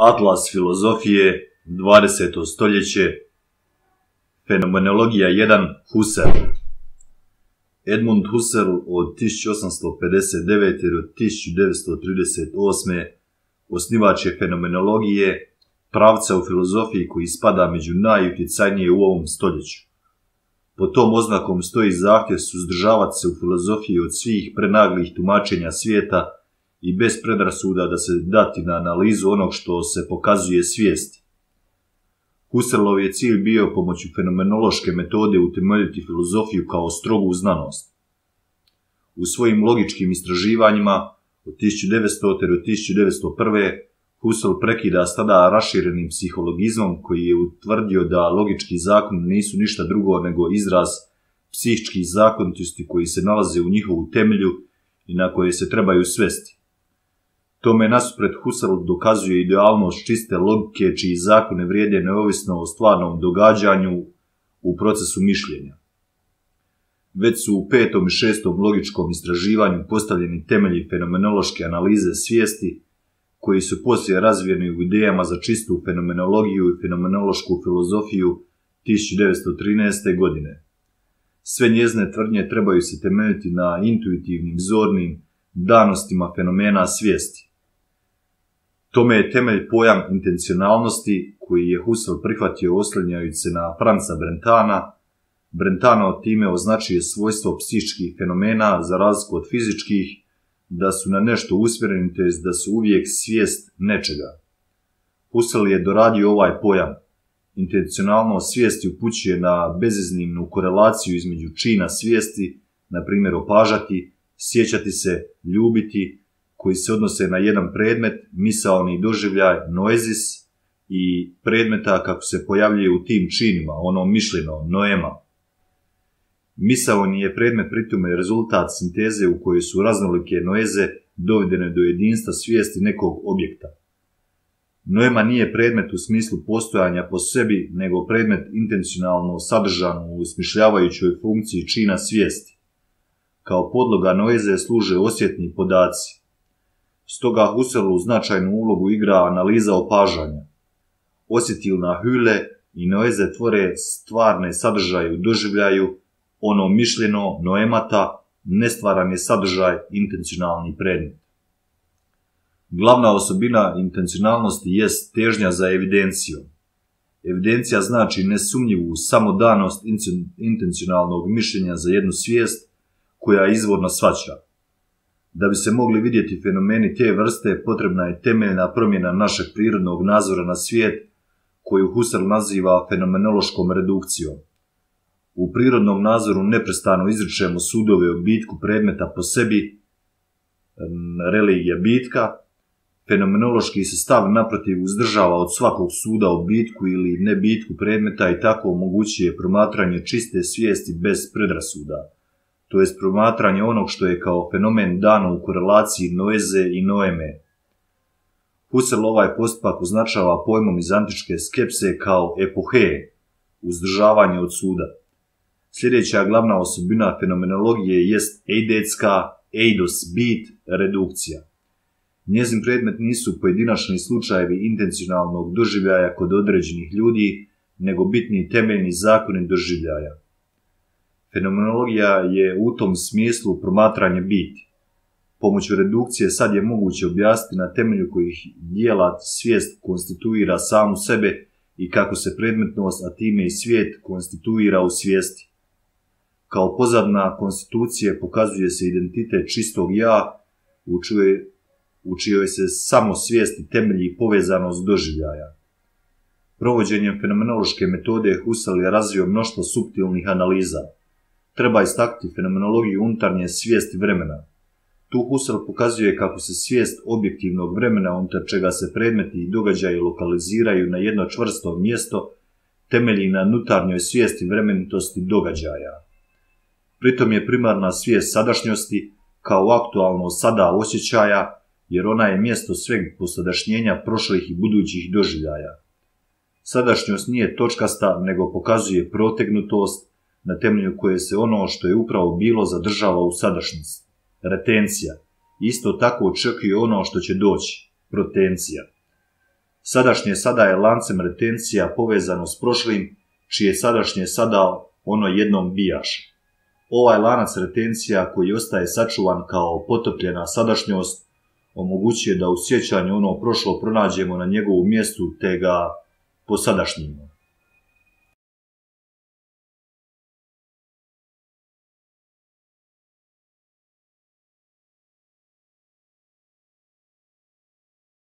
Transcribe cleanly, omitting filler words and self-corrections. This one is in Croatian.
Atlas filozofije, 20. stoljeće, Fenomenologija 1, Husserl. Edmund Husserl od 1859. do 1938. osnivač je fenomenologije, pravca u filozofiji koji spada među najutjecajnije u ovom stoljeću. Pod tom oznakom stoji zahtjev suzdržavati se u filozofiji od svih prenaglih tumačenja svijeta i bez predrasuda da se dati na analizu onog što se pokazuje svijesti. Husserlov je cilj bio pomoću fenomenološke metode utemeljiti filozofiju kao strogu znanost. U svojim logičkim istraživanjima od 1900. do 1901. Husserl prekida s tada raširenim psihologizmom koji je utvrdio da logički zakoni nisu ništa drugo nego izraz psihičkih zakonitosti koji se nalaze u njihovu temelju i na koje se trebaju svesti. Tome nasuprot Husserl dokazuje idealnost čiste logike čiji zakone vrijede neovisno o stvarnom događanju u procesu mišljenja. Već su u 5. i 6. logičkom istraživanju postavljeni temelji fenomenološke analize svijesti, koji su poslije razvijeni u idejama za čistu fenomenologiju i fenomenološku filozofiju 1913. godine. Sve njezine tvrdnje trebaju se temeljiti na intuitivnim, zornim danostima fenomena svijesti. Tome je temelj pojam intencionalnosti koji je Husserl prihvatio oslanjajući se na Franca Brentana. Brentano time označuje svojstvo psihičkih fenomena za razliku od fizičkih, da su na nešto usmjereni, tj. da su uvijek svijest nečega. Husserl je doradio ovaj pojam. Intencionalnost svijesti upućuje na beziznimnu korelaciju između čina svijesti, na primjer opažati, sjećati se, ljubiti, koji se odnose na jedan predmet, misaoni doživljaj, noezis, i predmeta kako se pojavljuje u tim činima, ono mišljeno, noema. Misaoni je predmet pritome rezultat sinteze u kojoj su raznolike noeze dovedene do jedinstva svijesti nekog objekta. Noema nije predmet u smislu postojanja po sebi, nego predmet intencionalno sadržan u smišljavajućoj funkciji čina svijesti. Kao podloga noeze služe osjetni podaci. Stoga Husserlu značajnu ulogu igra analiza opažanja. Osjetilna hüle i noeze tvore stvarne sadržaje u doživljaju, ono mišljeno, noemata, nestvaran je sadržaj, intencionalni predmet. Glavna osobina intencionalnosti jest težnja za evidencijom. Evidencija znači nesumnjivu samodanost intencionalnog mišljenja za jednu svijest koja izvorno shvaća. Da bi se mogli vidjeti fenomeni te vrste, potrebna je temeljna promjena našeg prirodnog nazora na svijet, koju Husserl naziva fenomenološkom redukcijom. U prirodnom nazoru neprestano izričemo sudove o bitku predmeta po sebi, religija bitka. Fenomenološki se stav naprotiv uzdržava od svakog suda o bitku ili nebitku predmeta i tako omogućuje promatranje čiste svijesti bez predrasuda, to jest promatranje onog što je kao fenomen dano u korelaciji noeze i noeme. Husserl ovaj postupak označava pojmom iz antičke skepse kao epohe, uzdržavanje od suda. Sljedeća glavna osobina fenomenologije jest eidetska, eidos bit, redukcija. Njezin predmet nisu pojedinačni slučajevi intencionalnog doživljaja kod određenih ljudi, nego bitni temeljni zakoni doživljaja. Fenomenologija je u tom smislu promatranje biti. Pomoću redukcije sad je moguće objasniti na temelju kojih dijela svijest konstituira samu sebe i kako se predmetnost, a time i svijet, konstituira u svijesti. Kao pozadna konstitucije pokazuje se identitet čistog ja, u čijoj se samo svijesti temelji povezanost doživljaja. Provođenjem fenomenološke metode Husserl je razvio mnoštvo suptilnih analiza. Treba istaknuti fenomenologiju unutarnje svijesti vremena. Tu Husserl pokazuje kako se svijest objektivnog vremena unutar čega se predmeti i događaji lokaliziraju na jedno čvrsto mjesto temelji na unutarnjoj svijesti vremenitosti događaja. Pritom je primarna svijest sadašnjosti kao aktualno sada osjećaja, jer ona je mjesto sveg posadašnjenja prošlih i budućih doživljaja. Sadašnjost nije točkasta, nego pokazuje protegnutost na temelju koje se ono što je upravo bilo zadržava u sadašnjosti. Retencija. Isto tako očekuje ono što će doći. Protencija. Sadašnje sada je lancem retencija povezano s prošlim, čije sadašnje sada ono jednom bijaše. Ovaj lanac retencija koji ostaje sačuvan kao potopljena sadašnjost omogućuje da u sjećanju ono prošlo pronađemo na njegovu mjestu te ga posadašnjimo.